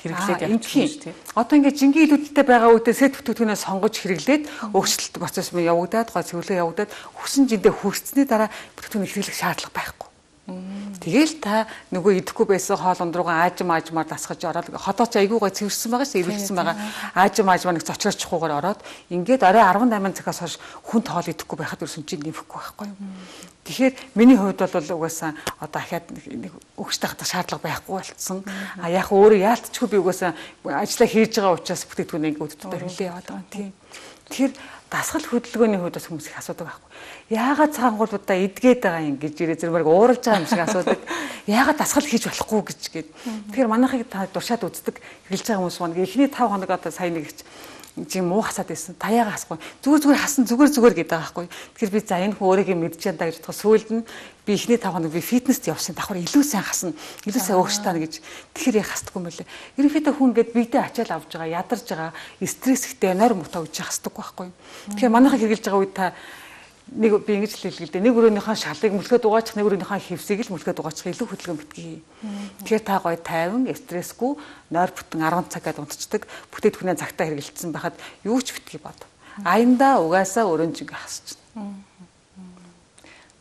хэрэглээд явчихсан шүү дээ. Одоо ингээд жингийн илүүдэлтэй байгаа үедээ сет бүтээгдэхүүнээ сонгож хэрэглээд өөрчлөлт процесс мөн явагдаад, гоо цэвэрлэг явагдаад хүссэн жиндээ хүрсцний дараа бүтээгдэхүүнийг хэрэглэх шаардлага байхгүй. Тэгэл та нөгөө идэхгүй байсан хоолнд руугаа аажим аажмаар дасгаж ороод ходоо ч айгүй гой цэвэрсэн байгаа шүү, эргэлсэн байгаа. Аажим аажмаар нэг зочроочихгүйгээр ороод ингээд орой арван восемь цагаас хойш хүнд хоол идэхгүй байхад ерөөсөн чинь нэмэхгүй байхгүй юу. Тэгэхээр миний хувьд бол угаасаа одоо ахаад нэг өгчтэй хатах шаардлага байхгүй болцсон. А яг өөрөө яалтчгүй би угаасаа ажиллаа хийж байгаа учраас бүтээгдэхүүнийг өдөртөө хэрэглээ яваад байгаа юм тийм. Тэгэхээр дасгал хөдөлгөөний хувьд бас хүмүүс их асуудаг байхгүй. Яагаад цаангуулуудаа идгээд байгаа юм гэж ирээ зэрмэрэг ууралж байгаа юм шиг асуудаг. Яагаад дасгал хийж болохгүй гэж гээд. Тэгэхээр манайхыг та дуршаад үздэг хэрэглэж байгаа хүмүүс маань эхний таван хоног одоо сая нэг жим муу хасаад байсан. Таяага хасахгүй. Зүгээр зүгээр хасан зүгээр зүгээр гэдэг байгаа байхгүй. Тэгэхээр би за энэ хүн өөрийгөө мэдж чадаа гэж бодоход сүүлд нь би эхний таван хоног би фитнест явсан. Давхар илүү сайн хасна. Илүү сайн ууштаа гэж. Тэгэхээр яг хасдаггүй юм байлээ. Ерөнхийдөө хүн ингээд бидээ ачаал авж байгаа, ядарж байгаа, стресс ихтэй нойр мутаа гэж хасдаггүй байхгүй. Тэгэхээр манайхыг хэрэглэж байгаа үед та нэг би ингэж л хэлгээл дээ. Нэг өрөөнийхөө шалыг мөлхөд угаачих, нэг өрөөнийхөө хевсийг л мөлхөд угаачих илүү хөдөлгөөн битгий. Тэгэхээр та гоё тайван, стрессгүй, нойр бүтэн арван цагаад унтцдаг бүтээгдэхүүнээ цагтаа хэрэгэлсэн байхад юу ч битгий бод. Аяндаа угаасаа өрөөнжиг хасчихна.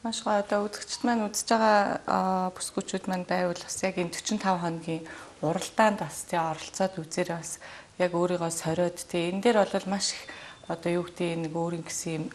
Маш гоё одоо үзэгчд маань үзэж байгаа бүсгүүчүүд маань байвал бас яг энэ forty-five хоногийн уралдаанд бас тий оролцоод үзээрэй бас яг өөрийгөө сориод тий энэ дээр бол маш их одоо юу гэдэг нэг өөрийн гэсэн юм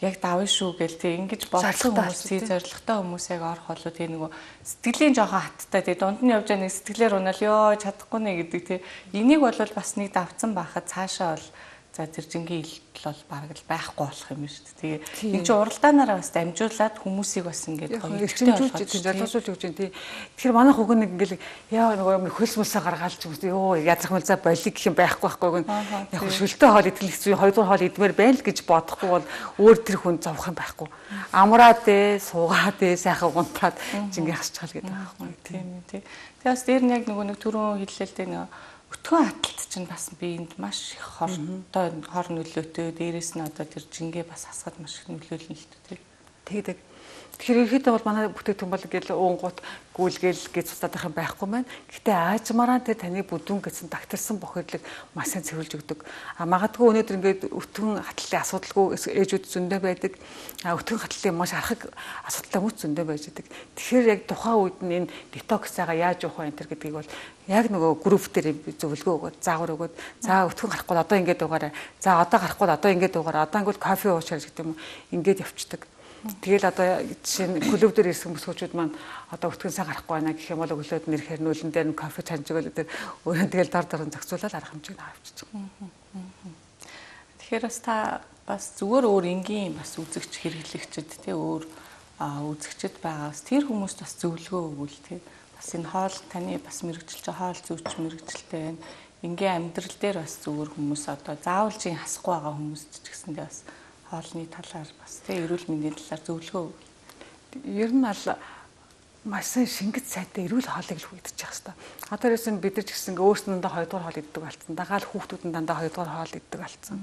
яг давна шүү гээл тий ингэж бодсон хүмүүс тий зоригтой хүмүүс яг орох болоо тий нөгөө сэтгэлийн жоохон хаттай тий дунд нь явж байгаа нэг сэтгэлээр унаал ёо чадахгүй нэ гэдэг тий энийг бол бас нэг давцсан байхад цаашаа бол За тэр жингийн илтгэл бол бараг л байхгүй болох юм шүү дээ. Тэгээ энэ чинь уралдаанаараа бас дамжуулаад хүмүүсийг бас ингээд гоё эрчимжүүлж залуусуулж өгч юм тий. Тэгэхээр манайх уг нэг ингээд яа нөгөө хөлсмөлсөө гаргаалч юм ёо язах мэлзаа болиг гэх юм байхгүй байхгүй гэн яг шөлтөө хоол идэх хэцүү хоёрдугаар хоол идмээр байл гэж бодохгүй бол өөр тэр хүн зовх юм байхгүй. Амраад ээ суугаад ээ сайхан гунтаад жингээ хасчихал гэдэг байхгүй тийм тий. Тэгээ бас дээр нь яг нөгөө нэг түрүүн хэллэлтэй нэг өтгөн хаталт чинь бас биед маш их хортой хор нөлөөтэй дээрэс нь одоо тэр жингээ бас хасгаад маш их нөлөөлнө л дээ тэгээд тэгэхээр ерөөхдөө бол манай бүтээгдэхүүн бол ингээл уунгууд гүйлгээл гэж цуцаад байх юм байхгүй маань. Гэхдээ аажмаараа тэр таны бүдүүн гэсэн дагтарсан бохирлыг маш сайн цэвэрлж өгдөг. А магадгүй өнөөдөр ингээд өтгөн хатлалын асуудалгүй ээжүүд зөндөө байдаг. А өтгөн хатлалын маш архаг асуудалтай хүмүүс зөндөө байж байдаг. Тэгэхээр яг тухайн үед нь энэ детоксаага яаж явах вэ энэ гэдгийг бол яг нөгөө групп дээр зөвлөгөө өгөөд заавар өгөөд за өтгөн гарахгүй одоо ингээд угаарай. За одоо гарахгүй одоо ингээд угаарай. Одоо ингээд кофе уучаар гэдэг юм уу ингээд явцдаг. Тэгэл одоо жишээ нь клуб дээр ирсэн бүсгүүчүүд маань одоо өтгөн сайн гарахгүй байна гэх юм бол өглөөд нэрхээр нүүлэн дээр нь кофе чанж өгөөл тэр өөрөө тэгэл дор дор зохицуулаад арга хэмжээг авчиж байгаа. Тэгэхээр бас та бас зүгээр өөр энгийн бас үзэгч хэрэглэгчд тий өөр үзэгчд байгаас тэр хүмүүст бас зөвлөгөө өгвөл тий бас энэ хоол таны бас мэрэгжилж хоол зүйч мэрэгжилтэй байна. Энгийн амьдрал дээр бас зүгээр хүмүүс одоо заавал чинь хасахгүй байгаа хүмүүс ч гэсэндээ бас хоолны талаар бас тий эрүүл мэндийн талаар зөвлөгөө. Ер нь аль маш сайн шингэц сайтай эрүүл хоолыг л хүидэж явах хэрэгтэй. Одоо ерөөсөн бид нар ч гэсэн өөрсөндөө хоёрдугаар хоол иддэг болсон. Дагаал хүүхдүүд нь дандаа хоёрдугаар хоол иддэг болсон.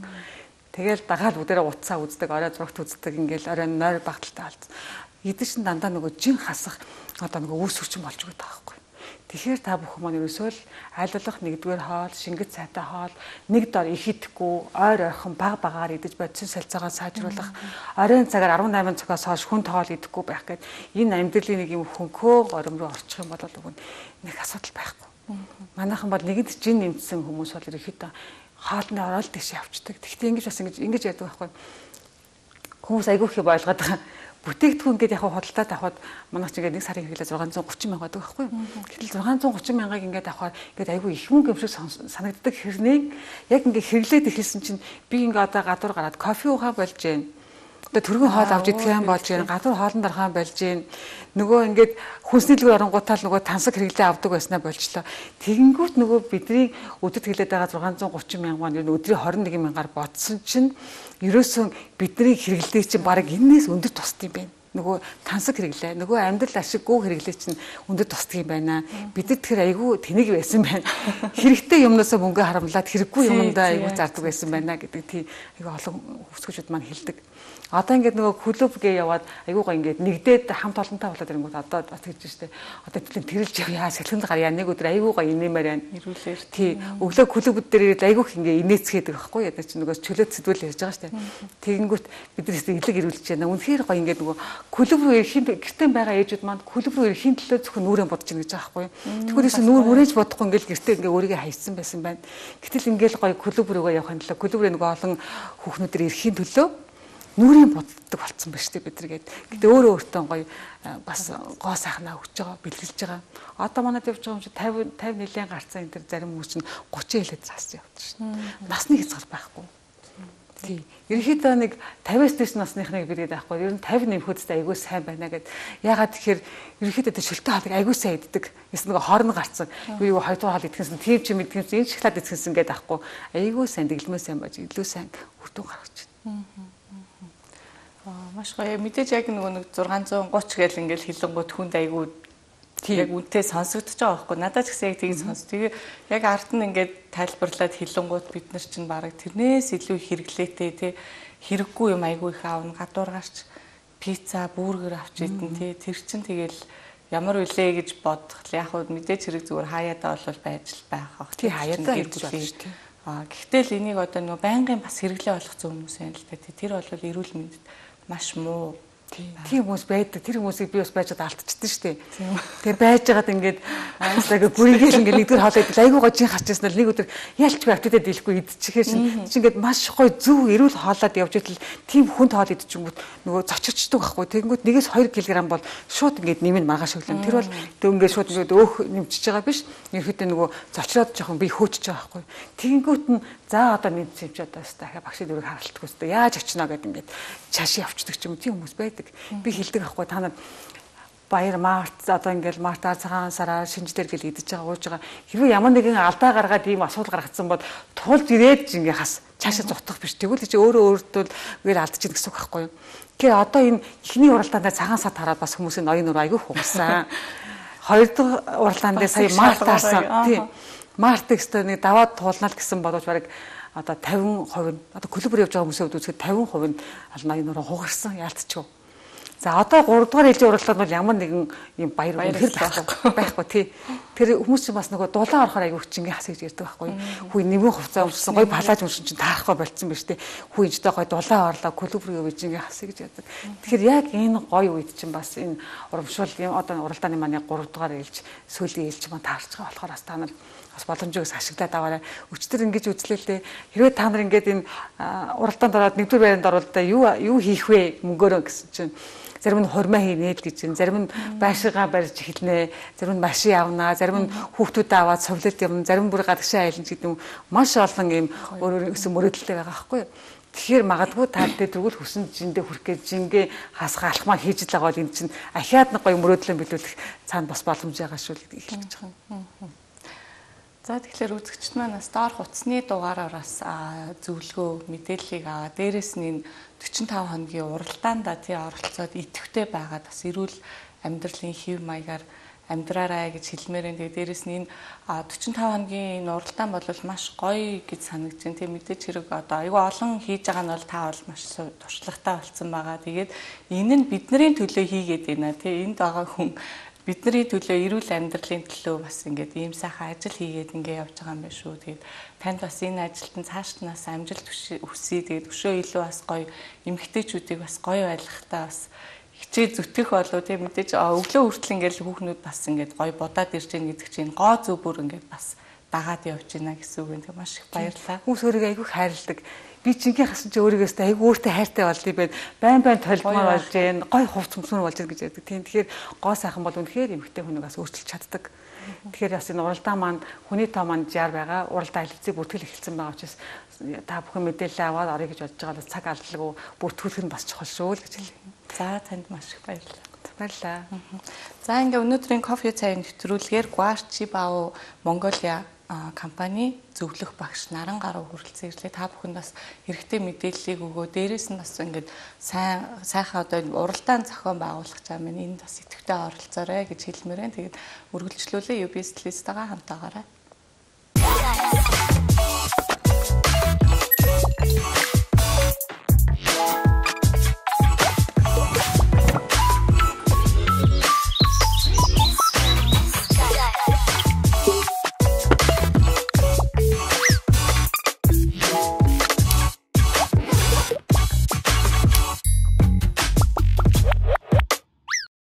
Тэгэл дагаал бүгдээрээ утсаа үздэг, орой зурагт үздэг, ингээл орой нойр багталтай болсон. Идэж чинь дандаа нөгөө жин хасах одоо нөгөө үүс хүчин болж байгаа байхгүй. Тэгэхээр та бүхэн маань ерөөсөө л айлуулах нэгдүгээр хоол, шингэц сайтай хоол, нэг дор их идэхгүй, ойр ойрхон баг багаар идэж бодсон солилцоогоо сайжруулах, оройн цагаар арван найман цагаас хойш хүн тоол идэхгүй байх гэдэг энэ амьдралын нэг юм хөнхөө ором руу орчих юм бол үгүй нэг асуудал байхгүй. Манайхан бол нэгэнд жин нэмсэн хүмүүс бол ерөөхдөө хоолны ороод дэше явцдаг. Гэхдээ ингэж бас ингэж ингэж яадаг байхгүй. Хүмүүс айгүй их ойлгоод байгаа. Бүтээгдэхүүн ингээд яг худалдаад авахад манайх ч ингээд нэг сарын хэрэглээ зургаан зуун гучин мянга байдаг байхгүй юу. Гэтэл зургаан зуун гучин мянгаыг ингээд авахаар ингээд айгүй их мөнгө юм шиг санагддаг хэрнээ яг ингээд хэрэглээд эхэлсэн чинь би ингээд одоо гадуур гараад кофе уугаа болж гэн. Одоо түргэн хоол авч идэх юм болж гэн. Гадуур хоолн дарахаан болж гэн. Нөгөө ингээд хүнснэлгүй оронгуутаал нөгөө тансаг хэрэглээ авдаг байснаа болчлоо. Тэгэнгүүт нөгөө бидний өдөд хэлээд байгаа зургаан зуун гучин мянга маань ер нь өдрийн хорин нэг мянгаар бодсон чинь ерөөсөн бидний хэрэглээ чинь баг энэс өндөр тусд юм байна. Нөгөө тансаг хэрэглээ, нөгөө амьдрал ашиггүй хэрэглээ чинь өндөр тусдаг юм байна. Бид нар тэр айгүй тэнэг байсан байна. Хэрэгтэй юмнасаа мөнгө харамлаад хэрэггүй юмдаа айгүй зардаг байсан байна гэдэг тийм айгүй олон хүсгчүүд маань хэлдэг. Одоо ингээд нөгөө клуб гээ яваад айгүй гоо ингээд нэгдээд хамт олонтой болоод ирэнгүүт одоо бас тэгж штэ. Одоо тэгэлэн тэрэлж яваа сэлхэнд гарьяа нэг өдөр айгүй гоо инээмээр байна. Ирүүлээр тий. Өглөө клубуд дээр ирээд айгүй их ингээд инээцгээдэг байхгүй яа чи нөгөө чөлөөт сэдвэл ярьж байгаа штэ. Тэгэнгүүт бид нар илэг ирүүлж байна. Үнэхээр гоо ингээд нөгөө клуб руу ирэхийн гэртээ байгаа ээжүүд манд клуб руу ирэхийн төлөө зөвхөн нүрээ бодож ийн гэж байгаа байхгүй. Тэгвэл нүүр мөрөөж бодохгүй ингээд гэртээ ингээд өөрийгөө хайсан байсан байна. Гэтэл ингээд гоё клуб руугаа явахын төлөө клуб руу нөгөө олон хүүхнүүдээр ирэхийн төлөө нүрийн боддог болсон ба штэ бид нар гээд. Гэтэ өөрөө өөртөө гоё бас гоо сайхнаа өгч байгаа, бэлгэлж байгаа. Одоо манад явж байгаа юм чи пятьдесят пятьдесят нэлээд гарцаа энэ төр зарим хүмүүс чинь тридцать хэлээд цаасан явдаг шин. Насны хязгаар байхгүй. Тий. Ерөнхийдөө нэг пятьдесяас дээш насныхныг бигээд байхгүй. Ер нь пятьдесят нэмэхүүдтэй айгүй сайн байна гэд. Ягаад тэгэхээр ерөнхийдөө тэр шөлтөө хоолыг айгүй сайн иддэг. Эсвэл нэг хоорн гарцсан. Юу юу хоёрдугаар хоол идэхсэн, тийм ч юм идэхсэн, энэ шоколад идэхсэн гээд байхгүй. Айгүй сайн дэглэмээ сайн байж илүү сайн хүртэн гаргаж байна. Маш гоё. Мэдээж яг нөгөө нэг зургаан зуун гуч гээл ингээл хилэнгууд хүнд айгүй яг үнтэй сонсогдож байгаа байхгүй. Надад ч гэсэн яг тийм сонс. Тэгээ яг ард нь ингээд тайлбарлаад хилэнгууд бид нар чинь баг тэрнээс илүү хэрэглээтэй тий хэрэггүй юм айгүй их аавна гадуур гарч пицца, бургер авч идэн тий тэр чинь тэгэл ямар үлээ гэж бодох. Яг хөө мэдээж хэрэг зүгээр хаяадаа бол байж л байх. Тий хаяадаа гэж байна шүү дээ. Аа гэхдээ л энийг одоо нөгөө байнгын бас хэрэглээ болгоцсон хүмүүс байна л да. Тэр бол эрүүл мэндэд маш муу. Тийм хүмүүс байдаг. Тэр хүмүүсийг би бас байж чад алдчихсан шүү дээ. Тэгээ байж байгаад ингээд аастаа гүрийгээл ингээд нэгдүгээр хоолой идэл айгуу гожийн хачсан л нэг өдөр ялч би автодад дийлэхгүй идчихээ шин. Чи ингээд маш гоё зөв эрүүл хоолоод явж идэл тийм хүнд хоол идчихэнгүүт нөгөө зочирчдаг байхгүй. Тэгэнгүүт нэгээс хоёр килограмм бол шууд ингээд нэмэн маргааш өглөө. Тэр бол тэг ингээд шууд ингээд өөх нэмчихэж байгаа биш. Ерөөхдөө нөгөө зочроод жоохон би хөөчж байгаа байхгүй. Тэгэнгүүт нь За одоо мэдсэн юм чи одоо дахиад багшийн дүрийг харалтгүй өстой яаж очино гэд ингээд цааш явчихдаг ч юм тийм хүмүүс байдаг. Би хэлдэг аахгүй та нар баяр март одоо ингээл мартаар цагаан сараар шинжлэр гэл идэж байгаа ууж байгаа хэрвээ ямар нэгэн алдаа гаргаад ийм асуудал гаргацсан бол тулж ирээд ингээ хас цаашаа зутгах биш тэгвэл чи өөрөө өөртөө үгээр алдчих гэсэн үг байхгүй юу. Тэгэхээр одоо энэ эхний уралдаанд цагаан сар тараад бас хүмүүсийн ноён нөр айгүй хугасан. Хоёр дахь уралдаанд сая март таарсан. Тийм. Март гэхтээ нэг даваад туулнаа л гэсэн бодож бараг одоо тавин хувь нь одоо клубэр явж байгаа хүмүүсийн хувьд үзэхэд тавин хувь нь аль ноён нөрөө хугарсан яалтчихв. За одоо гурав дахь ээлжийн уралдаанд бол ямар нэгэн юм баяр үнэхэр байхгүй байхгүй тий. Тэр хүмүүс чинь бас нөгөө дулаан орохоор аягүй хүчингийн хас гэж ярьдаг байхгүй. Хүү нэмэн хувцас өмссөн гой палаж өмсөн чинь таарахгүй болцсон биз тий. Хүү инжтэй гой дулаан орлоо клубрын үеижингийн хас гэж ярьдаг. Тэгэхээр яг энэ гой үед чинь бас энэ урамшуул юм одоо уралдааны маань гурав дахь ээлж сүүлийн ээлж маань таарч байгаа болохоор бас та нар бас боломжоос ашиглаад аваарай. Өчтөр ингэж үзлээ л дээ. Хэрвээ та нар ингэж энэ уралдаанд ороод нэгдүгээр байранд оролдоо юу юу хийх вэ мөнгөөрөө гэсэн чинь зарим нь хурмаа хийнэ л гэж байна. Зарим нь байшигаа барьж эхэлнэ. Зарим нь машин явнаа. Зарим нь хүүхдүүдээ аваад цовлолт юм. Зарим бүр гадагшаа айлж гэдэг юм. Маш олон юм өөр өөр гэсэн мөрөөдөлтэй байгаа байхгүй юу? Тэгэхээр магадгүй та тэ тэгвэл хүсэн жиндээ хүрх гэж жингээ хасгаа алхмаа хийж л байгаа бол энэ чинь ахиад нэг гоё мөрөөдлөө биелүүлэх цаана бас боломж байгаа шүү л гэж хэлж байгаа. За тэгэхээр үзэгчд маань бас доор хутасны дугаараас зөвлөгөө мэдээллийг аваа. Дээрээс нь энэ forty five хоногийн уралдаанд тий оролцоод идэвхтэй байгаад бас эрүүл амьдралын хэв маягаар амьдраарай гэж хэлмээрэн. Тэгээ дээрээс нь энэ forty five хоногийн энэ уралдаан бол маш гоё гэж санагдаж байна. Тэг мэдээж хэрэг одоо айгүй олон хийж байгаа нь бол та бол маш туршлагатай болсон байгаа. Тэгээд энэ нь бидний төлөө хийгээд байна. Тэг энд байгаа хүн бидний төлөө эрүүл амьдралын төлөө бас ингээд ийм сайхан ажил хийгээд ингээд явж байгаа юм байна шүү. Тэгээд танд бас энэ ажилд нь цаашднаас амжилт хүсье. Тэгээд өшөө илүү бас гоё эмэгтэйчүүдийг бас гоё байлгахтаа бас хичээ зүтгэх болов тийм мэдээж өглөө хүртэл ингээд хүүхнүүд бас ингээд гоё бодаад ирж гин гэдэг чинь гоо зүг бүр ингээд бас дагаад явж байна гэсэн үг юм. Тэг маш их баярлалаа. Хүмүүс өөрийгөө айгүй хайрладаг. Би чингийн хасан чи өөрийгөөс айгүй өөртөө хайртай болдгий байд байн байн толгмоор болж гэн гой хувц өмснөр болж гэн гэж ярьдаг. Тийм тэгэхээр гоо сайхан бол үнэхээр эмэгтэй хүнээс өөрчилж чаддаг. Тэгэхээр бас энэ уралдаан маань хүний тоо маань жаар байгаа. Уралдаан хэлцээ бүртгэл эхэлсэн байгаа учраас та бүхэн мэдээлэл аваад орё гэж бодож байгаа бол цаг алдалгүй бүртгүүлэх нь бас чухал шүү л гэж хэлье. За танд маш их баярлалаа. Баярлалаа. За ингээ өнөөдрийн кофе цайны нэвтрүүлгээр Guarchi Bao Mongolia компани зөвлөх багш Наран гаруй хүрэлцэн ирлээ. Та бүхэнд бас хэрэгтэй мэдээллийг өгөө. Дээрээс нь бас ингээд сайн сайхан одоо уралдаан зохион байгуулах чам энд бас идэвхтэй оролцоорой гэж хэлмээрэн. Тэгээд үргэлжлүүлээ ю би эс-тэйгээ хамтаагаарай.